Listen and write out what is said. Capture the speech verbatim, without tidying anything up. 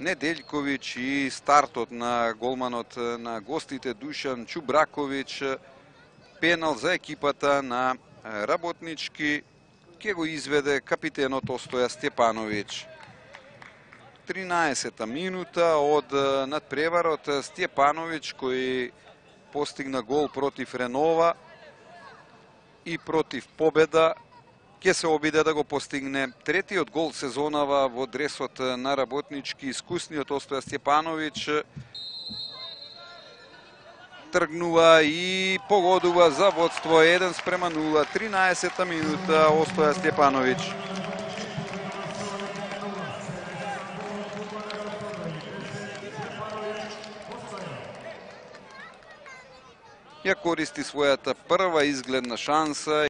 Неделјковиќ и стартот на голманот на гостите Дуšan Чубраковиќ. Пенал за екипата на Работнички ќе го изведе капитенот Остоја Стјепановиќ. тринаесета минута од надпреварот. Стјепановиќ кој постигна гол против Ренова и против Победа ќе се обиде да го постигне третиот гол сезонава во дресот на Работнички. Искусниот Остоја Стјепановиќ тргнува и погодува за водство еден спрема нула. тринаесета минута. Остоја Стјепановиќ. Ја користи својата прва изгледна шанса